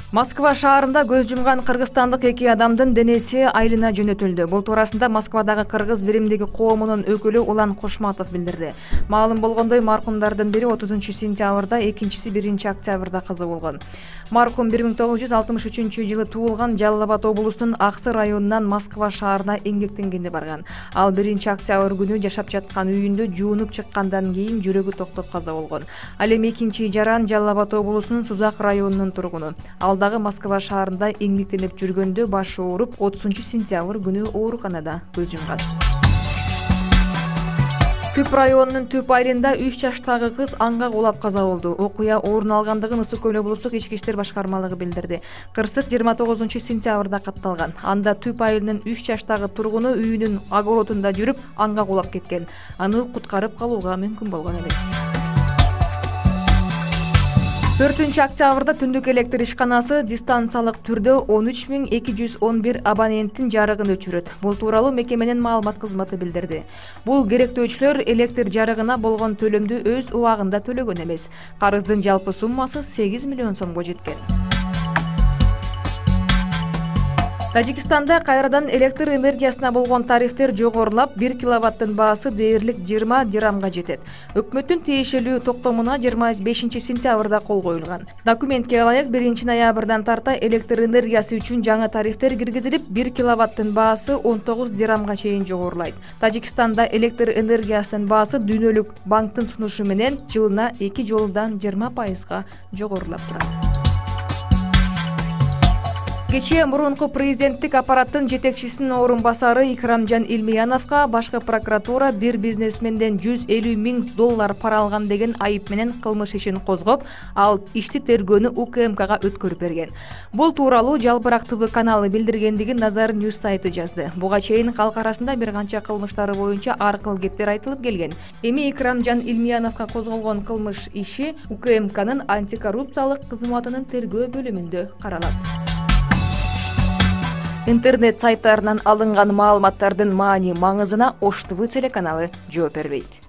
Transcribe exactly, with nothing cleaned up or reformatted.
Москва шаарында көз жумган кыргызстандык эки адамдын денеси айылына жөнөтүлдү. Бул туурасында Москвадагы кыргыз биримдиги коомунун өкүлү Улан Кошматов билдирди. Маалым болгондой, маркумдардын бири отузунчу сентябрда, экинчиси биринчи октябрда каза болгон. Маркум бир миң тогуз жүз алтымыш үчүнчү жылы туулган, Жалал Абад облусунун Аксы районунан Москва шаарына эмгектенгенде барган. Ал биринчи октябрь күнү жашап жаткан үйүндө жуунуп чыккандан кийин жүрөгү токтоп каза болгон. Ал эми экинчи жаран Жалал Абад облусунун Сузак районунун тургуну. Дагы Москва шаарында эмгектенип жүргөндө башы ооруп, отузунчу сентябрь күнү ооруканада көз жумган. Күп районунун Түп айылында үч жаштагы кыз анга кулап каза болду. Окуя орун алгандыгын Ысык көл облустук ички иштер башкармалыгы билдирди. Кырсык жыйырма тогузунчу сентябрда катталган. Анда Түп айылынын үч жаштагы тургуну үйүнүн огородунда жүрүп анга кулап кеткен. Аны куткарып калууга мүмкүн болгон эмес. төртүнчү октябрда түндүк электр ишканасы дистанциялык түрдө он үч миң эки жүз он бир абоненттин жарыгын өчүрөт. Бул тууралуу мекеменин маалымат кызматы билдирди. Бул керектөөчүлөр электр жарыгына болгон төлөмдү өз убагында төлөгөн эмес. Карыздын жалпы суммасы сегиз миллион сомго жеткен. Тажикстанда кайрадан электр энергиясына болгон тарифтер жогорулап, бир киловаттын баасы дээрлик жыйырма дирамга жетет. Өкмөттүн тиешелүү токтомуна жыйырма бешинчи сентябрда кол коюлган. Документке ылайык биринчи ноябрдан тарта электр энергиясы үчүн жаңы тарифтер киргизилип, бир киловаттын баасы он тогуз дирамга чейин жогорулайт. Тажикстанда электр энергиясынын баасы дүйнөлүк банктын сунушу менен жылына эки жолудан жыйырма пайызга жогорулап турат. Кечээ мурунку президенттик аппараттын жетекчисинин орун басары Икрамжан Илмияновго башкы прокуратура бир бизнесменден жүз элүү миң доллар пара алган деген айып менен кылмыш ишин козгоп, ал ишти тергөөнү У К М Кга өткөрүп берген. Бул тууралуу Жалпырак ТВ каналы билдиргендигин Назар Ньюс сайты жазды. Буга чейин калк арасында бир канча кылмыштары боюнча ар кыл кептер айтылып келген. Эми Икрамжан Илмияновго козголгон кылмыш иши У К М Кнын антикоррупциялык кызматынын тергөө бөлүмүндө каралат. Интернет сайттарынан алынган маалыматтардын маани маңызына Ош ТВ телеканалы жооп бербейт.